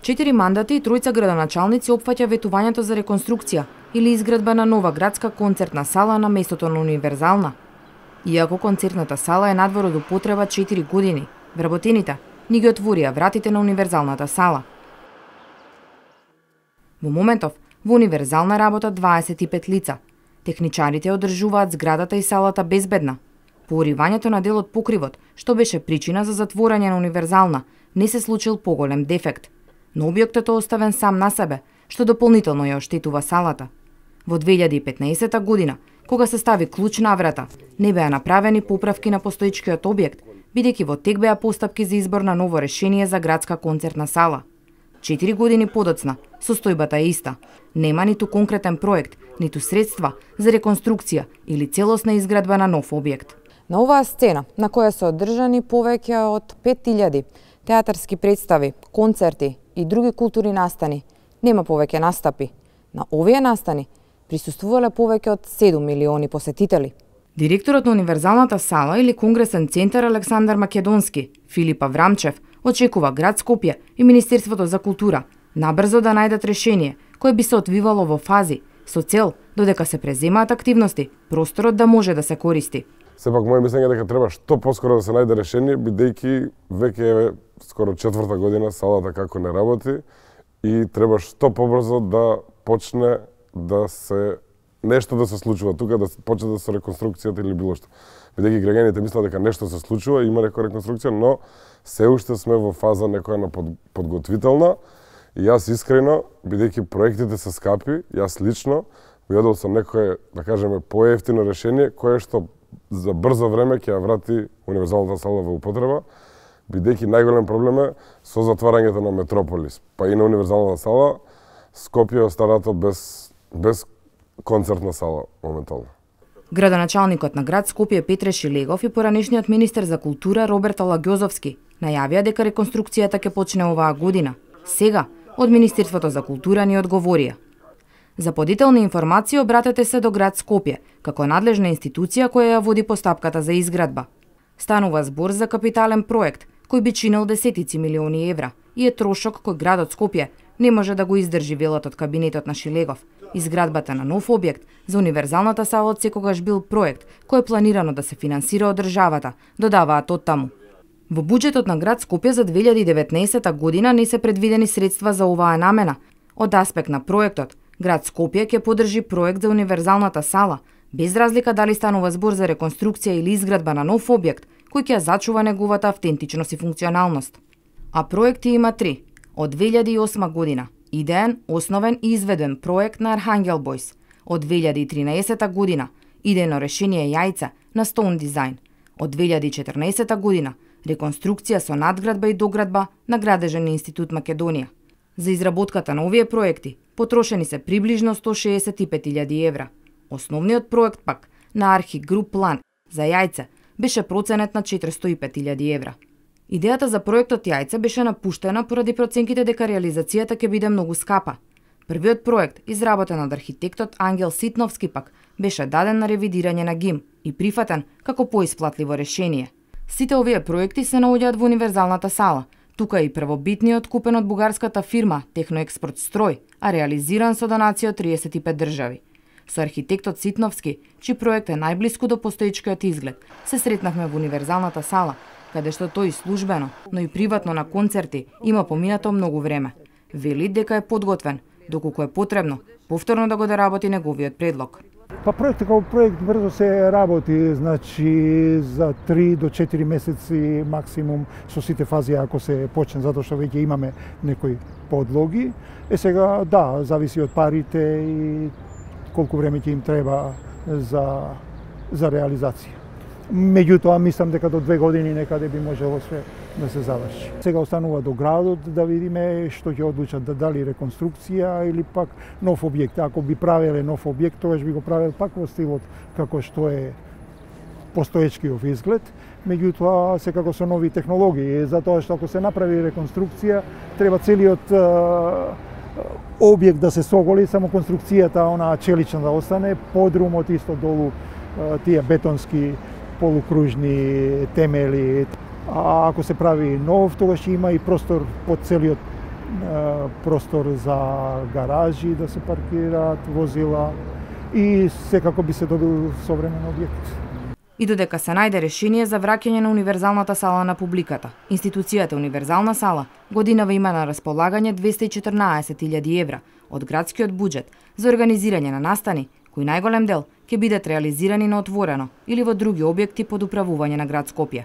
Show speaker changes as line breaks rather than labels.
4 мандати и 3 градоначалници опфаќа ветувањето за реконструкција или изградба на нова градска концертна сала на местото на универзална. Иако концертната сала е надвор од употреба 4 години, вработените ни ги отворија вратите на универзалната сала. Во моментов, во универзална работат 25 лица. Техничарите одржуваат зградата и салата безбедна. Поуривањето на дел од покривот, што беше причина за затворање на универзална, не се случил поголем дефект. Но објектот е оставен сам на себе, што дополнително ја оштетува салата. Во 2015 година, кога се стави клуч на врата, не беа направени поправки на постоечкиот објект, бидејќи во тек беа постапки за избор на ново решение за градска концертна сала. 4 години подоцна, состојбата е иста. Нема ниту конкретен проект, ниту средства за реконструкција или целосна изградба на нов објект.
На оваа сцена, на која се одржани повеќе од 5000 театарски представи, концерти и други културни настани, нема повеќе настапи. На овие настани присуствувале повеќе од 7 милиони посетители.
Директорот на универзалната сала или конгресен центар Александар Македонски, Филип Аврамчев, очекува град Скопје и Министерството за култура набрзо да најдат решение кое би се одвивало во фази со цел додека се преземаат активности, просторот да може да се користи.
Сепак моје мислење дека треба што поскоро да се најде решение, бидејќи веќе е скоро 4-та година салата како не работи и треба што побрзо да почне да се нешто да се случува тука, да почне да се реконструкцијата или било што. Бидејќи граѓаните мислат дека нешто се случува, има некоја реконструкција, но се уште сме во фаза некоја на подготвителна. И јас искрено, бидејќи проектите се скапи, јас лично би одел со некое, да кажеме, поевтино решение кое што за брзо време ќе ја врати универзалната сала во употреба, бидејќи најголем проблем е со затварањето на Метрополис, па и на универзалната сала, Скопје е останато без концертна сала моментално.
Градоначалникот на град Скопје Петре Шилегов и поранешниот министер за култура Роберт Алагјозовски најавија дека реконструкцијата ќе почне оваа година. Сега, од Министерството за култура ни одговорија. За подетелни информации обратете се до град Скопје, како надлежна институција која ја води постапката за изградба. Станува збор за капитален проект, кој би чинил десетици милиони евра и е трошок кој градот Скопје не може да го издржи, велат од кабинетот на Шилегов. Изградбата на нов објект за универзалната сала од секогаш бил проект кој е планирано да се финансира од државата, додаваат оттаму. Во буџетот на град Скопје за 2019 година не се предвидени средства за оваа намена. Од аспект на проектот, град Скопје ќе поддржи проект за универзалната сала, без разлика дали станува збор за реконструкција или изградба на нов објект, кој ќе зачува неговата автентичност и функционалност. А проекти има 3. Од 2008 година, идеен, основен и изведен проект на Архангел Бойс. Од 2013 година, идејно решение Јајца на Stone Design. Од 2014 година, реконструкција со надградба и доградба на Градежен институт Македонија. За изработката на овие проекти потрошени се приближно 165.000 евра. Основниот проект пак на Архи Груп План за Јајце беше проценет на 405.000 евра. Идејата за проектот Јајце беше напуштена поради проценките дека реализацијата ќе биде многу скапа. Првиот проект, изработен од архитектот Ангел Ситновски пак, беше даден на ревидирање на ГИМ и прифатен како поисплатливо решение. Сите овие проекти се наоѓаат во универзалната сала. Тука е и првобитниот купен од бугарската фирма Техноекспорт Строј, а реализиран со донација од 35 држави. Со архитектот Ситновски, чиј проект е најблиску до постоечкиот изглед, се сретнавме во универзалната сала, каде што тој службено, но и приватно на концерти има поминато многу време. Вели дека е подготвен, доколку е потребно повторно да го доработи неговиот предлог.
Па проектот како проект брзо се работи, значи за 3 до 4 месеци максимум со сите фази ако се почне, затоа што веќе имаме некои подлоги. Сега да, зависи од парите и колку време ќе им треба за реализација. Меѓутоа, мислам дека до 2 години некаде би можело све да се заврши. Сега останува до градот да видиме што ќе одлучат, дали реконструкција или пак нов објект. Ако би правеле нов објект, тогаш би го правел пак во стилот како што е постоечкиот изглед. Меѓутоа, секако со нови технологии, затоа што ако се направи реконструкција, треба целиот објект да се соголи, само конструкцијата, она челична да остане, подрумот исто долу, тие бетонски полукружни темели. А ако се прави нов, тогаш има и простор под целиот простор за гаражи да се паркираат возила и секако би се добил современ објект.
И додека се најде решение за враќање на универзалната сала на публиката, институцијата Универзална сала годинава има на располагање 214.000 евра од градскиот буџет за организирање на настани, кои најголем дел ќе бидат реализирани на отворено или во други објекти под управување на град Скопје.